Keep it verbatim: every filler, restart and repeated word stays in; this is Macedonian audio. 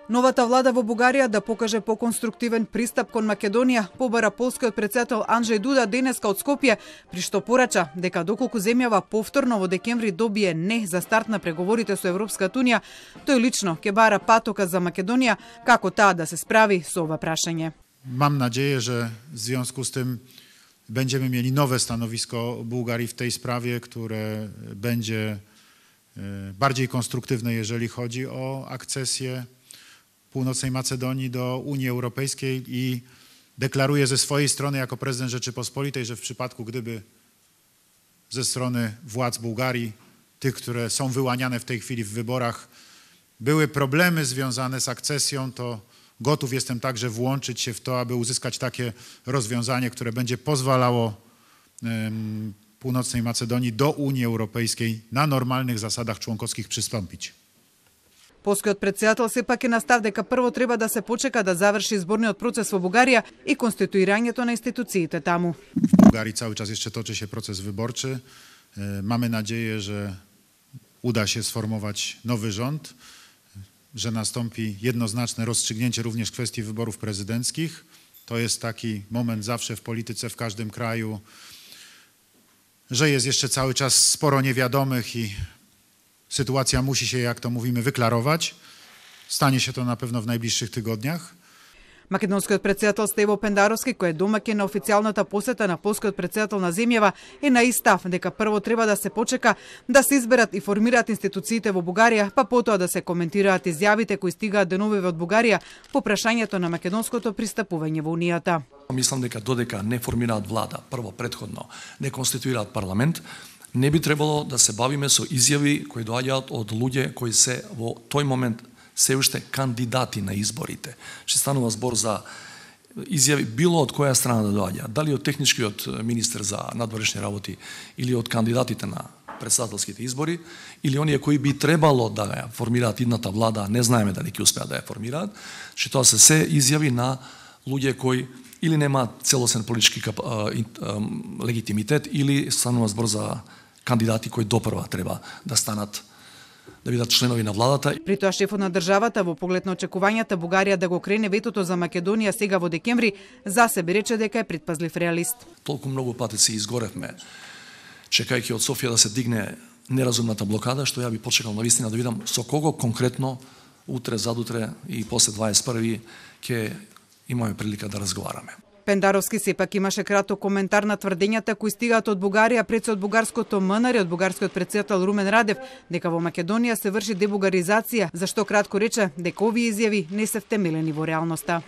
Новата влада во Бугарија да покаже поконструктивен пристап кон Македонија, побара полскиот председател Анджеј Дуда денеска од Скопје, при што порача дека доколку земјава повторно во декември добие не за старт на преговорите со Европската унија, тој лично ќе бара патока за Македонија како таа да се справи со ова прашање. Mam nadzieję, że w związku z tym będziemy mieli nowe stanowisko Bułgarii w tej sprawie, które będzie bardziej konstruktywne, jeżeli chodzi o akcesję Północnej Macedonii do Unii Europejskiej i deklaruję ze swojej strony jako prezydent Rzeczypospolitej, że w przypadku gdyby ze strony władz Bułgarii, tych, które są wyłaniane w tej chwili w wyborach, były problemy związane z akcesją, to gotów jestem także włączyć się w to, aby uzyskać takie rozwiązanie, które będzie pozwalało um, Północnej Macedonii do Unii Europejskiej na normalnych zasadach członkowskich przystąpić. Полскиот председател сепак е на став дека прво треба да се почека да заврши изборниот процес во Бугарија и конституирањето на институциите таму. W Bułgarii cały czas jeszcze toczy się proces wyborczy. Mamy nadzieję, że uda się sformować nowy rząd, że nastąpi jednoznaczne rozstrzygnięcie również kwestii wyborów prezydenckich. To jest taki moment zawsze w polityce w każdym kraju, że jest jeszcze cały czas sporo niewiadomych i sytuacja musi się, jak to mówimy, wyklarować. Stanie się to na pewno w najbliższych tygodniach. Македонскиот председател Стево Пендаровски, кој е домаќин на официјалната посета на полскиот председател на земјава, е на истав дека прво треба да се почека да се изберат и формираат институциите во Бугарија, па потоа да се коментираат изјавите кои стигаат деновиве од Бугарија по прашањето на македонското пристапување во Унијата. Мислам дека додека не формираат влада, прво претходно не конституираат парламент, не би требало да се бавиме со изјави кои доаѓаат од луѓе кои се во тој момент се уште кандидати на изборите. Ще станува збор за изјави било од која страна да доаѓа, дали од техничкиот министер за надворешни работи или од кандидатите на председателските избори, или оние кои би требало да ја формираат идната влада, не знаеме дали ќе успеат да ја формираат, че тоа се се изјави на луѓе кои или немаат целосен политички легитимитет, или станува збор за кандидати кои допрва треба да станат да бидат членови на владата. При тоа шефот на државата во поглед на очекувањата Бугарија да го крене ветото за Македонија сега во декември, за себе рече дека е предпазлив реалист. Толку многу пати се изгоревме чекајќи од Софија да се дигне неразумната блокада, што ја би почекал навистина да видам со кого конкретно утре, задутре и после дваесет и први ќе имаме прилика да разговараме. Пендаровски сепак имаше краток коментар на тврдењата кои стигаат од Бугарија пред од бугарското МНР и од бугарскиот председател Румен Радев дека во Македонија се врши дебугаризација, за што кратко рече дека овие изјави не се втемелени во реалноста.